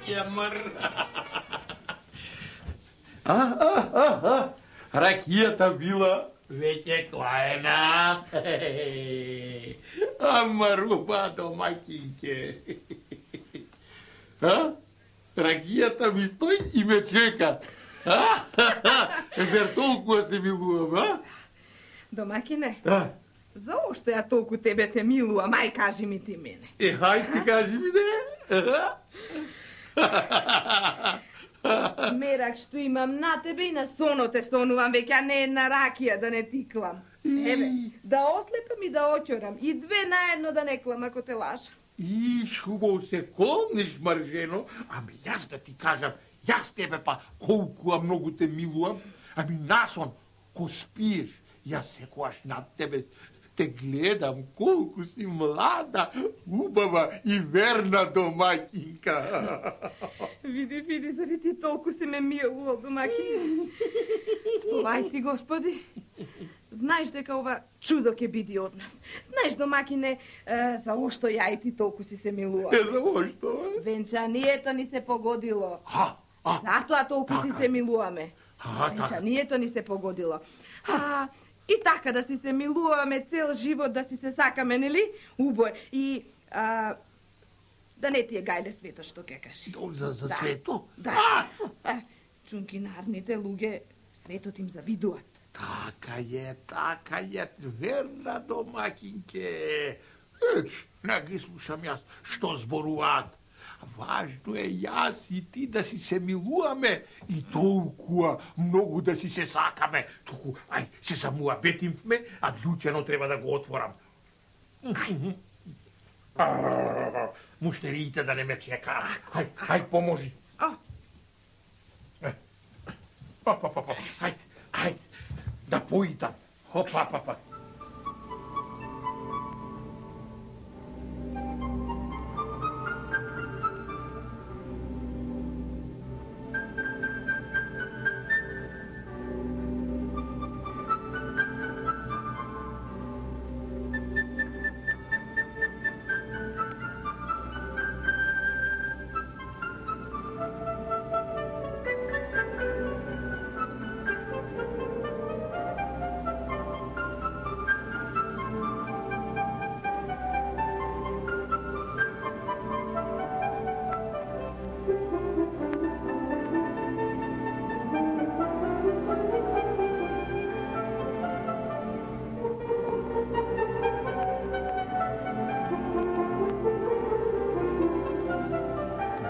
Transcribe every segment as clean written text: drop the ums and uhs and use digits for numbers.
кемър. Ракијата била веќе клаена. Ама руба домакинке. Ракијата ми стои и ме чека. Зер толку се милувам, Домакине, заошто ја толку тебе те милувам? Ај, кажи ми ти мене. Хај ти кажи ми, не? Мерак што имам на тебе и на соно те сонувам, веќе не една ракија да не тиклам. Еве, да ослепам и да очорам, и две наедно да не клам ако те лажам. Хубаво се колнеш, Маржено, ами јас да ти кажам, јас тебе па колку многу те милувам, ами насон, ко спиеш, јас секојаш над тебе те гледам колку си млада, убава и верна домакинка. Види, зари ти толку си ме милувал, домакине. Сповај ти, Господи. Знаеш дека ова чудо ќе биде од нас. Знаеш, домакине, заошто ја и ти толку си се милувал? Заошто? Венчанието ни се погодило. Затоа толку си се милуваме. Венчанието ни се погодило. И така да си се милуваме цел живот, да си се сакаме, нели? Убој. И да не ти е гајле свето што ќе кажи. За свето? Да. Чункинарните луѓе светот им завидуваат. Така е, верна домакинке. Не ги слушам јас што зборуваат. Важно е јас и ти да си се милуваме и толкува многу да си се сакаме. Туку, ај, се самуабетимме, а дуќено треба да го отворам. Муштериите да не ме чека. Ај, поможи. Ајде, да поитам. Хопа.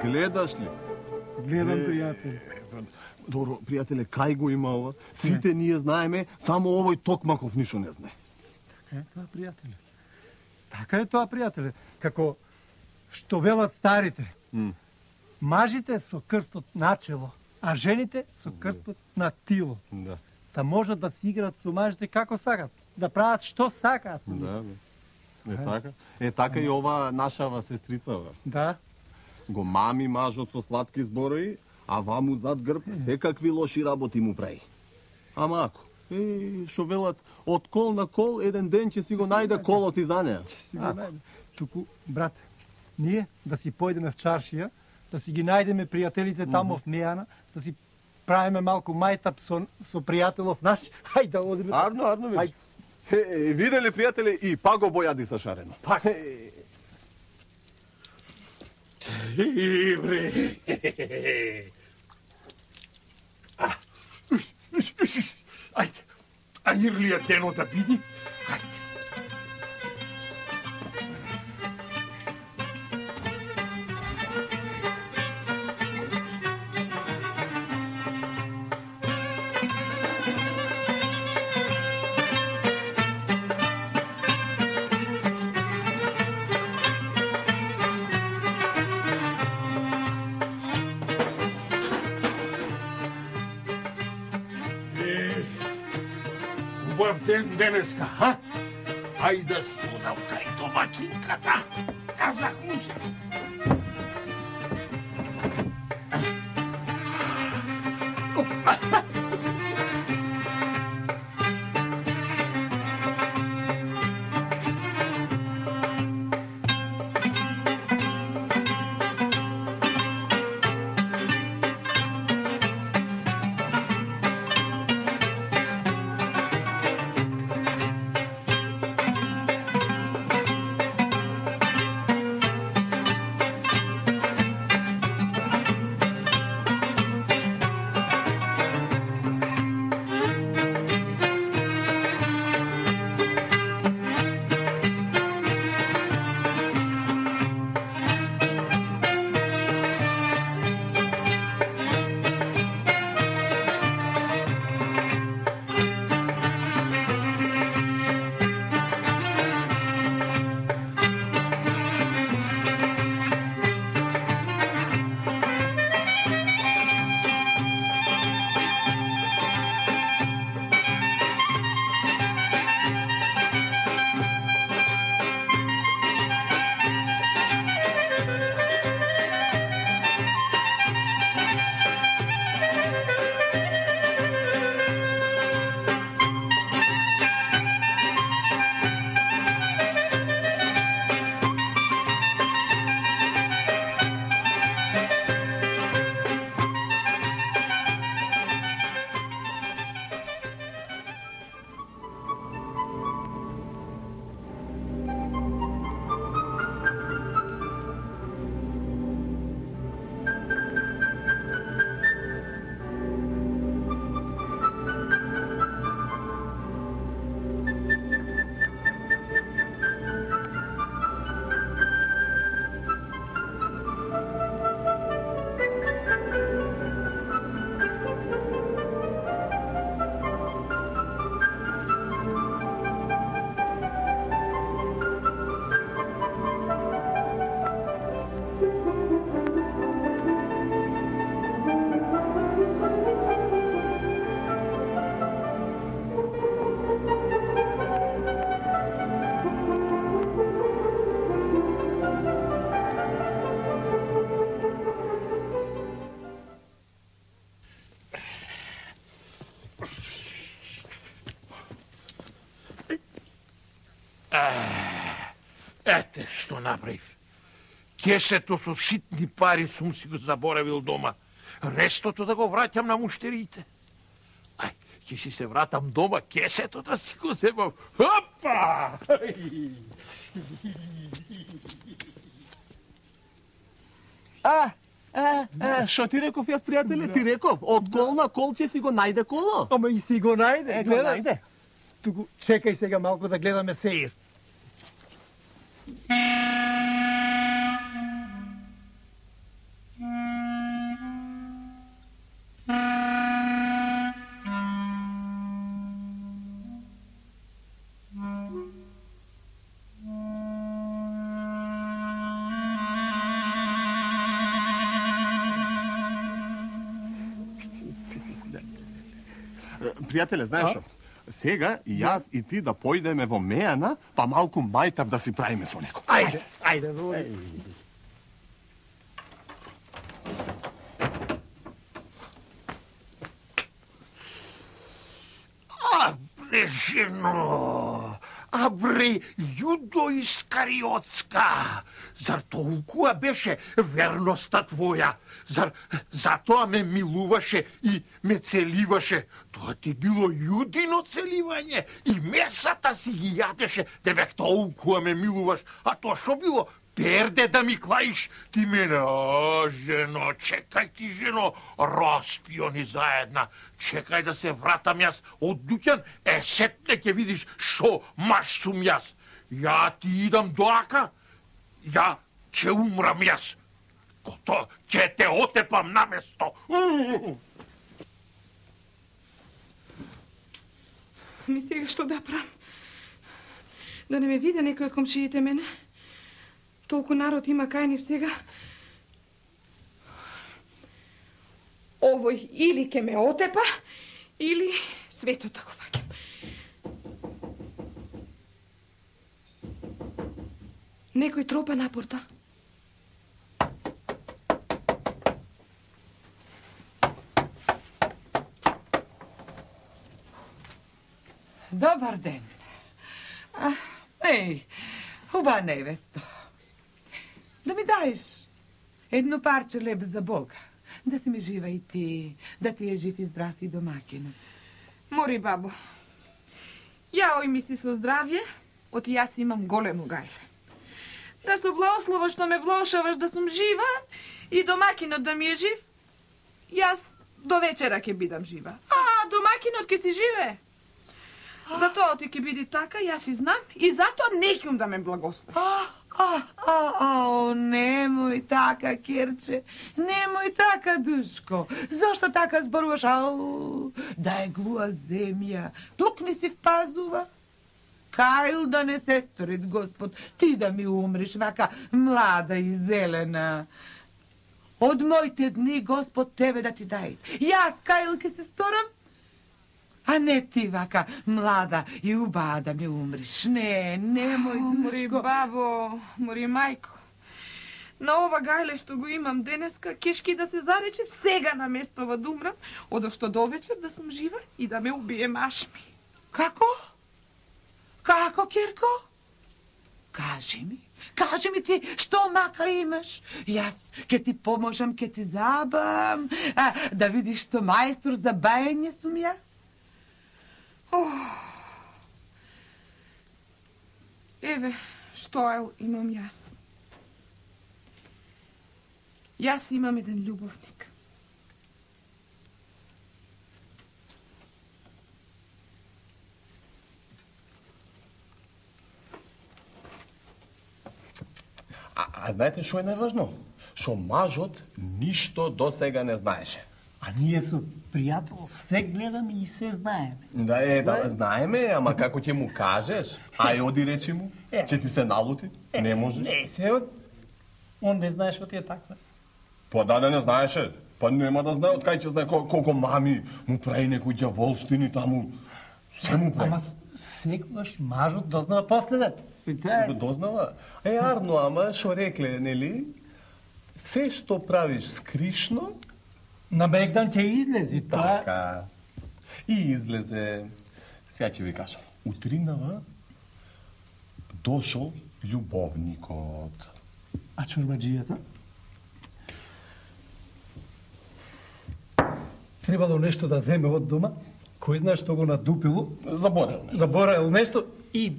Гледаш ли? Гледам, пријателе. Добро, пријателе, кај го има ова? Сите ние знаеме, само овој Токмаков ништо не знае. Така е тоа, пријателе. Како што велат старите. Мажите со крстот на чело, а жените со крстот на тило. Да. Та можат да си играат со мажите како сакат, да прават што сакаат со нив. Да. Така и ова нашава сестрица. Да. Го мами мажот со сладки зборови, а ваму зад грб секакви лоши работи му прави. Ама ако, шо велат, од кол на кол, еден ден ќе си го најде колот и за неа. Туку, брат, ние да си појдеме в чаршија, да си ги најдеме пријателите тамо в Мејана, да си правиме малку мајтап со пријателов наш, хај да одиме. Арно, видиш. Видели, пријатели, и па го бојади са шарено. Бре. Ајде, ирлија денот да биди. Ајде. Ден денеска, ха? Ајде да студам кај домакинката. Да захлучам. Ете што направив. Кесето со ситни пари сум си го заборавил дома. Рестото да го враќам на муштериите. Ај, ќе си се вратам дома, кесето да си го земам. Опа! Шо ти реков јас, пријателе? Ти реков, од кол на кол ќе си го најде коло. Ама и си го најде, гледаш? најде. Туку, чекај сега малку да гледаме сеир. Пријателе, знаеш што? Сега и јас и ти да појдеме во Мејана, па малку мајтап да си правиме со некој. Ајде, ајде, води. Абре, жено! Абре, Јудо Искариотска! Зар толкува беше верноста твоја? Зар затоа ме милуваше и ме целиваше? Тоа ти било Јудино целивање и месата си ги јадеше, тебе толкува ме милуваш, а тоа што било? Перде да ми клаиш, ти мене, жено, чекај ти, жено, распио ни заедна, чекај да се вратам јас од дуќан, сетне ќе видиш шо маш сум јас. Ја ти идам доака, ја ќе умрам јас, кото ќе те отепам на место. Ми сега што да правам? Да не ме виде некој од комшиите мене? Толку народ има кај нив сега. Овој или ке ме отепа, или светот да го ваќам. Некој тропа на порта. Добар ден. Еј, хуба невесто. Да ми даеш едно парче леб за Бога. Да си ми жива и ти, да ти е жив и здрав и домакин. Мори, бабо. Ја ој ми си со здравје, оти јас имам големо гајле. Да со благослова што ме влошаваш да сум жива и домакинот да ми е жив, јас до вечера ќе бидам жива. А домакинот ќе си живее. Затоа оти ќе биде така, јас и знам, и затоа не ќум да ме благословиш. Немој така, Керче, немој така, душко. Зошто така зборуваш? Да е глуа земја, тук не си впазува. Кајл да не се сторит, Господ, ти да ми умриш вака млада и зелена. Од моите дни, Господ, тебе да ти дај. Јас, Кајл, ке се сторам, а не ти вака млада и убава да ми умриш. Немој, душко. Мори, бабо, мори, мајко. На ова гајле што го имам денеска, кешки да се заречев сега на местова да умрам, одошто до вечер да сум жива и да ме убие маш ми. Како? Како, Керко? Кажи ми ти, што мака имаш? Јас ке ти поможам, ке ти забам, да видиш што мајстор за бајање сум јас. Еве, што имам јас. Јас имам еден љубовник. А знаете што е најважно? Што мажот ништо досега не знаеше. А ние со пријател се гледаме и се знаеме. Да, знаеме, ама како ќе му кажеш? Ај, оди речи му, ќе ти се налути? Не можеш. Не се, он не знаеш што ти е таква. Па да не знаеше. Па нема да знае, од кај ќе знае колко мами му прави некои ѓаволштини таму. Се му прави. Ама секогаш мажот дознава последен. Дознава? Арно, ама шо рекле, нели? Се што правиш скришно, на Бегдан ќе излези, тоа. Така. И излезе. Сега ќе ви кажам. Утринава дошол љубовникот. А чорбаджијата? Требало нешто да земе од дома, кој знае што го надупило. Заборел нешто. Заборел нешто и...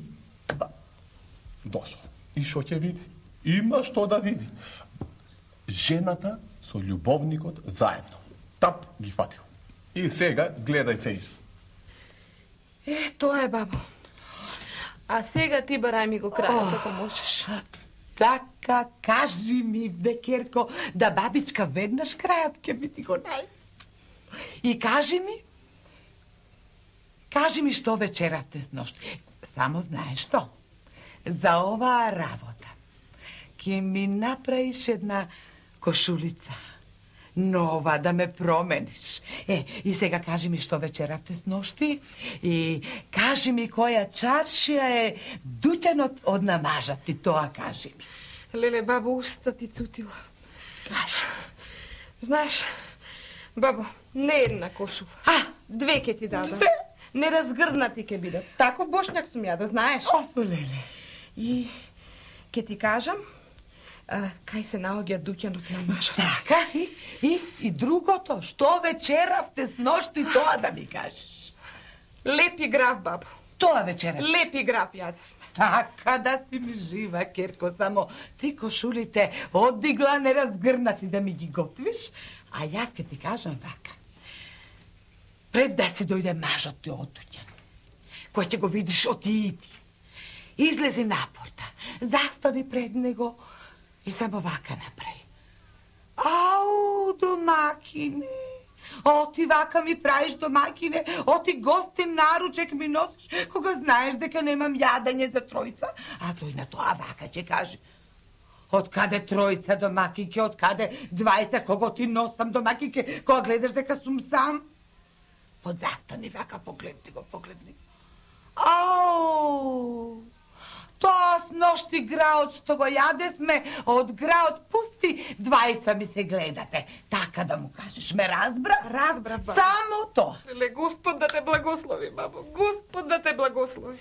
Дошол. И шо ќе види? Има што да види. Жената со љубовникот заедно. Тап ги фатил. И сега гледај се. Тоа е, бабо. А сега ти барај ми го крајот, ако можеш. Така, кажи ми, Декерко, да бабичка веднаш крајот ќе би ти го најде. И кажи ми што вечеравте с ношти. Само знаеш што? За оваа работа ќе ми направиш една кошулица. Нова, да ме промениш. И сега кажи ми што вечеравте с ношти и кажи ми која чаршија е дуќанот од намажат ти, тоа кажи ми. Леле, бабо, уста ти цутила. Кажи. Знаеш, бабо, не една кошула. Две ќе ти дадам. Две? Неразгрнати ќе бидат. Таков бошњак сум ја, да знаеш. Леле. И ќе ти кажам, кај се наоѓа дуќанот на мажот. Така, и другото, што вечеравте с ношти, тоа да ми кажеш. Лепи граф, бабо. Тоа вечеравте. Лепи граф јадевме. Така да си ми жива, Керко, само ти кошулите одигла неразгрнати да ми ги готвиш, а јас ќе ти кажам вака. Пред да си дојде мажот ти од дуќан, кој ќе го видиш оти и ти, излези напорта, застани пред него и само вака направи. Ау, домакине, оти вака ми правиш, домакине, оти гостин наручек ми носиш, кога знаеш дека немам јадење за тројца, а тој на тоа вака ќе каже. Од каде тројца, домакинке, од каде двајца, кого ти носам, домакинке, кога гледаш дека сум сам? Подзастани вака, погледни го. Ау! Тоа с ношти граот што го јадевме, од граот пусти, двајца ми се гледате. Така да му кажеш, ме разбра? Разбра, бабо. Само тоа. Леле, Господ да те благослови, бабо. Господ да те благослови.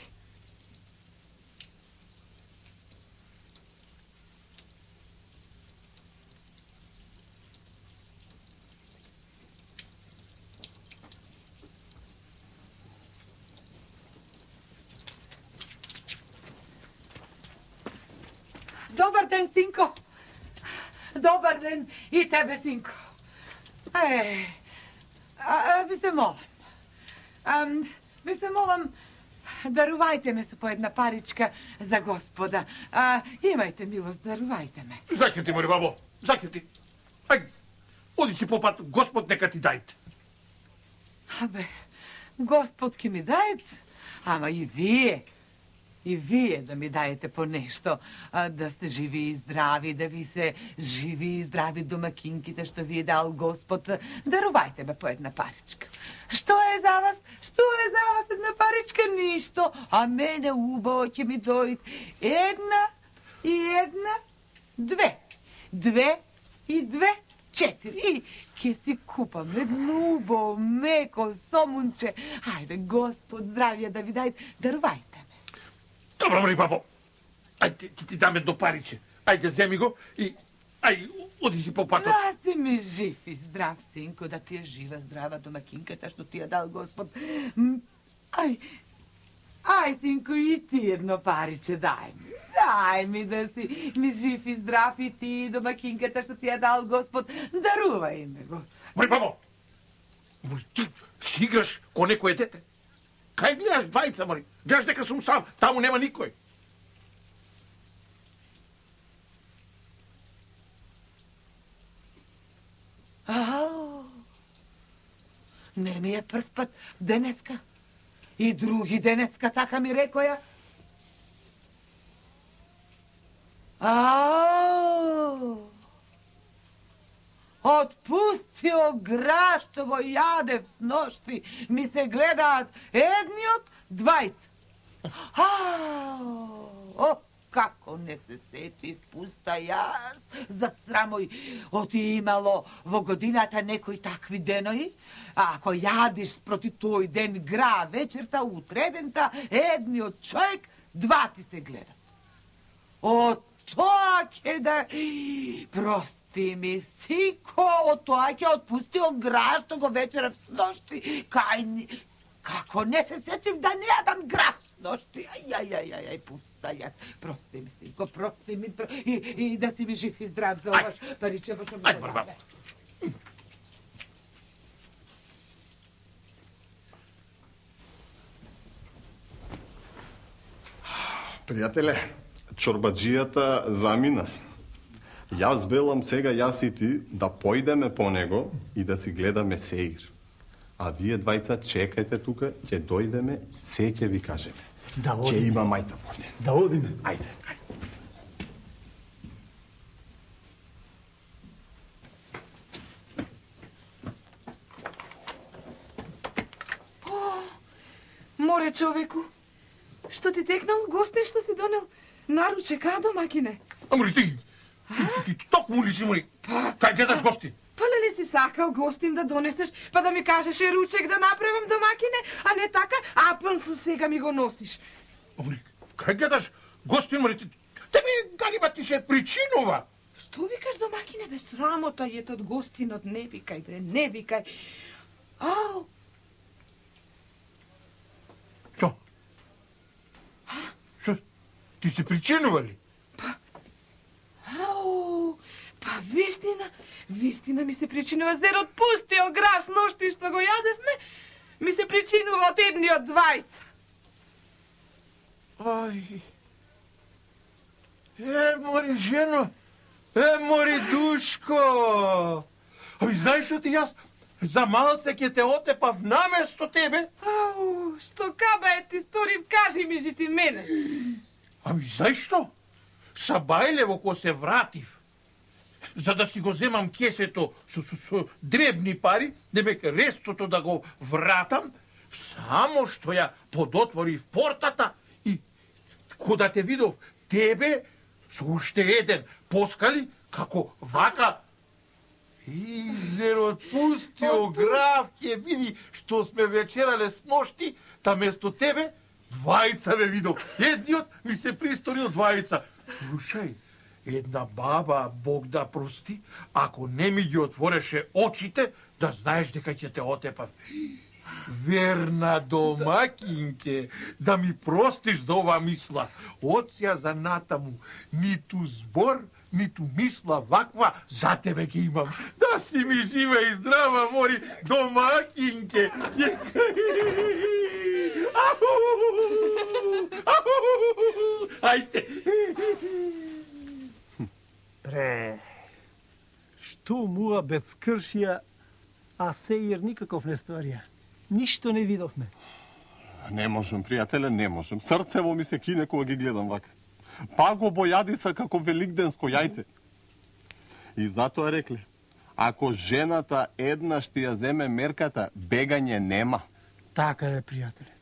Добар ден, синко. Добар ден и тебе, синко. Ви се молам, дарувајте ме со по една паричка за Господа. Имајте милост, дарувајте ме. Закрити, мори, бабо, закрити. Ај, оди си по пат, Господ нека ти дајте. Господ ке ми дајте, ама и вие да ми дајете по нешто, да сте живи и здрави, да ви се живи и здрави домакинките што ви е дал Господ. Дарувајте ме по една паричка. Што е за вас? Една паричка? Ништо. А мене убаво ќе ми дојде една, две. Две и две, 4. И ќе си купам едно убаво, меко, сомунче. Ајде, Господ здравје да ви дајте. Дарувајте. Добро, мори, бабо. Ајде, ќе ти дам едно париче. Ајде, земи го и... оди си по патот. Да си ми жив и здрав, синко, да ти е жива, здрава домакинката што ти ја дал Господ. Ај, синко, и ти едно париче дај ми. Дај ми да си ми жив и здрав и ти домакинката што ти ја дал Господ. Дарувај ме го. Мори, бабо, ти си играш ко некој дете. Кај гледаш двајца, мори? Гледаш дека сум сам, таму нема никој. Не ми е прв пат денеска. И други денеска, така ми рекоја. Отпустио гра што го јадев с ношти, ми се гледаат едниот, двајца. Како не се сетив, пуста јас, за срамој, оти имало во годината некои такви денои, а ако јадиш спроти тој ден гра вечерта, утредента, едниот човек, два ти се гледат. О, тоа ќе да... Прости ми, сико, о тоа ќе отпустил град, што го вечерав с ношти. Како не се сетив да не јадам град с ношти. Ај, пуста јас. Прости ми, синко, прости ми. И да си ми жив и здрав за оваш париче, што ми го даде. Пријателе, чорбаджијата замина. Јас велам сега јас и ти да појдеме по него и да си гледаме сеир. А вие двајца чекајте тука, ќе дојдеме, се ќе ви кажеме. Да одиме. Ќе има мајта поне. Да одиме. Ајде. Море човеку, што ти текнал гостин што си донел наручек, а, домакине? Амори ти токму ли си, мори? Кај гледаш гости? Па ли си сакал гостин да донесеш, па да ми кажеш и ручек да направам, домакине, а не така, апан со сега ми го носиш. Амори, кај гледаш гостин, мори? Тебе галиба ти се причинува. Што викаш, домакине, бе, срамота јетот гостинот, не викај, бре, не викај. Ау! Што? Што? Ти се причинува ли? Ау! Па вистина ми се причинува зерот пустио граф с ношти што го јадевме, ми се причинува од едниот двајца. Ај. Мори жено, мори душко. Аби знаеш што ти јас за малце ќе те отепав наместо тебе? Ау, што каба ти сторив, кажи ми жити мене. Ами знаеш што? Са Бајлево ко се вратив, за да си го земам кесето со дребни пари, демек рестото да го вратам, само што ја подотворив портата и кога те видов тебе со уште еден поскали, како вака изерот пустио граф ќе види што сме вечерале с ношти, та место тебе двајца ве видов. Едниот ми се присторил двајца. Слушај, една баба, Бог да прости, ако не ми ги отвореше очите, да знаеш дека ќе те отепам. Верна домакинке, да ми простиш за ова мисла. Од сеја за натаму, ниту збор, ниту мисла ваква за тебе ќе имам. Да си ми жива и здрава, мори домакинке. Ајде. Пре, што муа бед скршија, а сеир никаков не стварија. Ништо не видовме. Не можам, пријателе, не можам. Срцево ми се кине кога ги гледам вака. Па го бојадиса како великденско јајце. И затоа рекле, ако жената еднаш ти ја земе мерката, бегање нема. Така е, пријателе.